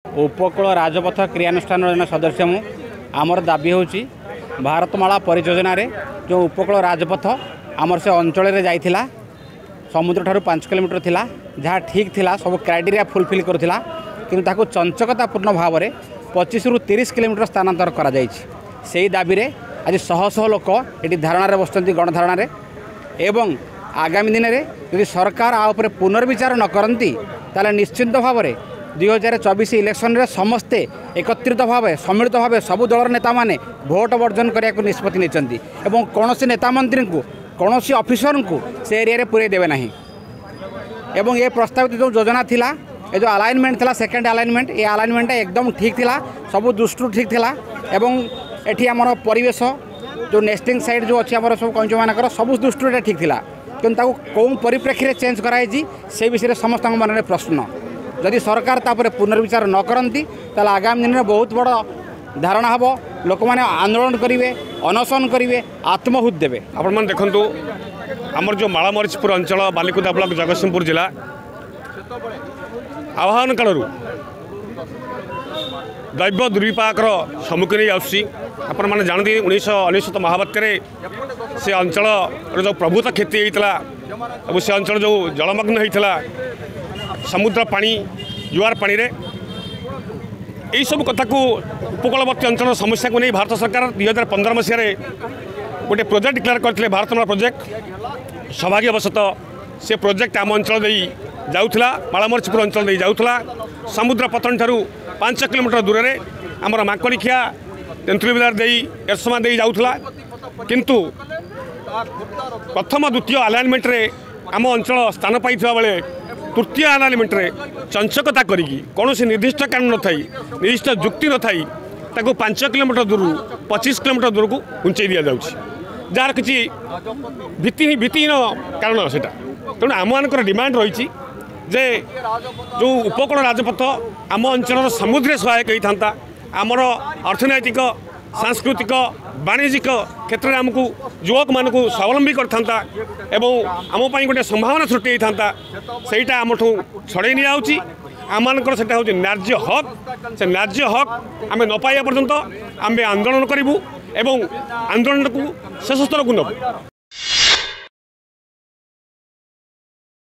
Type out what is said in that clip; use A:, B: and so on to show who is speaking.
A: ଉପକୂଳ ରାଜପଥ କ୍ରିୟାନୁଷ୍ଠାନର ଜଣେ ସଦସ୍ୟ ମୁଁ। ଆମର ଦାବି ହେଉଛି, ଭାରତମାଳା ପରିଯୋଜନାରେ ଯେଉଁ ଉପକୂଳ ରାଜପଥ ଆମର ସେ ଅଞ୍ଚଳରେ ଯାଇଥିଲା, ସମୁଦ୍ରଠାରୁ 5 କିଲୋମିଟର ଥିଲା, ଯାହା ଠିକ୍ ଥିଲା, ସବୁ କ୍ରାଇଟେରିଆ ଫୁଲଫିଲ୍ କରୁଥିଲା, କିନ୍ତୁ ତାକୁ ଚଞ୍ଚକତାପୂର୍ଣ୍ଣ ଭାବରେ 25ରୁ 30 କିଲୋମିଟର ସ୍ଥାନାନ୍ତର କରାଯାଇଛି। ସେଇ ଦାବିରେ ଆଜି ଶହ ଶହ ଲୋକ ଏଠି ଧାରଣାରେ ବସୁଛନ୍ତି, ଗଣଧାରଣାରେ। ଏବଂ ଆଗାମୀ ଦିନରେ ଯଦି ସରକାର ଆ ଉପରେ ପୁନର୍ବିଚାର ନ କରନ୍ତି, ତାହେଲେ ନିଶ୍ଚିନ୍ତ ଭାବରେ 2024 ଇଲେକ୍ସନରେ ସମସ୍ତେ ଏକତ୍ରିତ ଭାବେ, ସମ୍ମିଳିତ ଭାବେ ସବୁ ଦଳର ନେତାମାନେ ଭୋଟ ବର୍ଜନ କରିବାକୁ ନିଷ୍ପତ୍ତି ନେଇଛନ୍ତି ଏବଂ କୌଣସି ନେତା ମନ୍ତ୍ରୀଙ୍କୁ, କୌଣସି ଅଫିସରଙ୍କୁ ସେ ଏରିଆରେ ପୁରେଇ ଦେବେ ନାହିଁ। ଏବଂ ଏ ପ୍ରସ୍ତାବିତ ଯେଉଁ ଯୋଜନା ଥିଲା, ଏ ଯେଉଁ ଆଲାଇନମେଣ୍ଟ ଥିଲା, ସେକେଣ୍ଡ ଆଲାଇନମେଣ୍ଟ, ଏ ଆଲାଇନମେଣ୍ଟଟା ଏକଦମ ଠିକ୍ ଥିଲା, ସବୁ ଦୃଷ୍ଟିରୁ ଠିକ୍ ଥିଲା। ଏବଂ ଏଠି ଆମର ପରିବେଶ ଯେଉଁ ନେଷ୍ଟିଂ ସାଇଟ୍ ଯେଉଁ ଅଛି ଆମର ସବୁ କଇଁଚମାନଙ୍କର, ସବୁ ଦୃଷ୍ଟିରୁ ଏଇଟା ଠିକ୍ ଥିଲା। କିନ୍ତୁ ତାକୁ କେଉଁ ପରିପ୍ରେକ୍ଷୀରେ ଚେଞ୍ଜ କରାହେଇଛି, ସେ ବିଷୟରେ ସମସ୍ତଙ୍କ ମନରେ ପ୍ରଶ୍ନ। ଯଦି ସରକାର ତାପରେ ପୁନର୍ବିଚାର ନ କରନ୍ତି, ତାହେଲେ ଆଗାମୀ ଦିନରେ ବହୁତ ବଡ଼ ଧାରଣା ହେବ, ଲୋକମାନେ ଆନ୍ଦୋଳନ କରିବେ, ଅନଶନ କରିବେ, ଆତ୍ମହୁତି ଦେବେ।
B: ଆପଣମାନେ ଦେଖନ୍ତୁ, ଆମର ଯେଉଁ ମାଳମରିଚପୁର ଅଞ୍ଚଳ, ବାଲିକୁଦା ବ୍ଲକ, ଜଗତସିଂହପୁର ଜିଲ୍ଲା, ଆହ୍ୱାନ କାଳରୁ ଦୈବ ଦୁର୍ବିପାକର ସମ୍ମୁଖୀନ ହେଇ ଆସୁଛି। ଆପଣମାନେ ଜାଣନ୍ତି, 1999 ମହାବାତ୍ୟାରେ ସେ ଅଞ୍ଚଳର ଯେଉଁ ପ୍ରଭୂତ କ୍ଷତି ହେଇଥିଲା ଏବଂ ସେ ଅଞ୍ଚଳ ଯେଉଁ ଜଳମଗ୍ନ ହେଇଥିଲା ସମୁଦ୍ର ପାଣି, ଜୁଆର ପାଣିରେ, ଏଇସବୁ କଥାକୁ, ଉପକୂଳବର୍ତ୍ତୀ ଅଞ୍ଚଳର ସମସ୍ୟାକୁ ନେଇ ଭାରତ ସରକାର 2015 ମସିହାରେ ଗୋଟେ ପ୍ରୋଜେକ୍ଟ ଡିକ୍ଲେୟାର କରିଥିଲେ, ଭାରତମାଳା ପ୍ରୋଜେକ୍ଟ। ସୌଭାଗ୍ୟବଶତଃ ସେ ପ୍ରୋଜେକ୍ଟ ଆମ ଅଞ୍ଚଳ ଦେଇ ଯାଉଥିଲା, ମାଳମରିଚପୁର ଅଞ୍ଚଳ ଦେଇ ଯାଉଥିଲା। ସମୁଦ୍ର ପତ୍ତନ ଠାରୁ 5 କିଲୋମିଟର ଦୂରରେ ଆମର ମାଙ୍କଡ଼ିଖିଆ, ତେନ୍ତୁଳିବିଲାର ଦେଇ, ଏରସମା ଦେଇ ଯାଉଥିଲା। କିନ୍ତୁ ପ୍ରଥମ ଦ୍ୱିତୀୟ ଆଲାଇନମେଣ୍ଟରେ ଆମ ଅଞ୍ଚଳ ସ୍ଥାନ ପାଇଥିବା ବେଳେ ତୃତୀୟ ଆଲାଇନମେଣ୍ଟରେ ଚଞ୍ଚକତା କରିକି, କୌଣସି ନିର୍ଦ୍ଦିଷ୍ଟ କାରଣ ନଥାଇ, ନିର୍ଦ୍ଦିଷ୍ଟ ଯୁକ୍ତି ନଥାଇ ତାକୁ 5 କିଲୋମିଟର ଦୂରରୁ 25 କିଲୋମିଟର ଦୂରକୁ ଘୁଞ୍ଚେଇ ଦିଆଯାଉଛି, ଯାହାର କିଛି ଭିତ୍ତିହୀନ କାରଣ ସେଇଟା। ତେଣୁ ଆମମାନଙ୍କର ଡିମାଣ୍ଡ ରହିଛି ଯେ ଯେଉଁ ଉପକୂଳ ରାଜପଥ ଆମ ଅଞ୍ଚଳର ସମୁଦ୍ରରେ ସହାୟକ ହେଇଥାନ୍ତା, ଆମର ଅର୍ଥନୈତିକ, ସାଂସ୍କୃତିକ, ବାଣିଜ୍ୟିକ କ୍ଷେତ୍ରରେ ଆମକୁ ଯୁବକମାନଙ୍କୁ ସ୍ୱାବଲମ୍ବୀ କରିଥାନ୍ତା ଏବଂ ଆମ ପାଇଁ ଗୋଟେ ସମ୍ଭାବନା ସୃଷ୍ଟି ହେଇଥାନ୍ତା, ସେଇଟା ଆମଠୁ ଛଡ଼େଇ ନିଆଯାଉଛି। ଆମମାନଙ୍କର ସେଇଟା ହେଉଛି ନ୍ୟାଯ୍ୟ ହକ୍। ସେ ନ୍ୟାଯ୍ୟ ହକ୍ ଆମେ ନ ପାଇବା ପର୍ଯ୍ୟନ୍ତ ଆମେ ଆନ୍ଦୋଳନ କରିବୁ ଏବଂ ଆନ୍ଦୋଳନକୁ ଶେଷ ସ୍ତରକୁ ନେବୁ।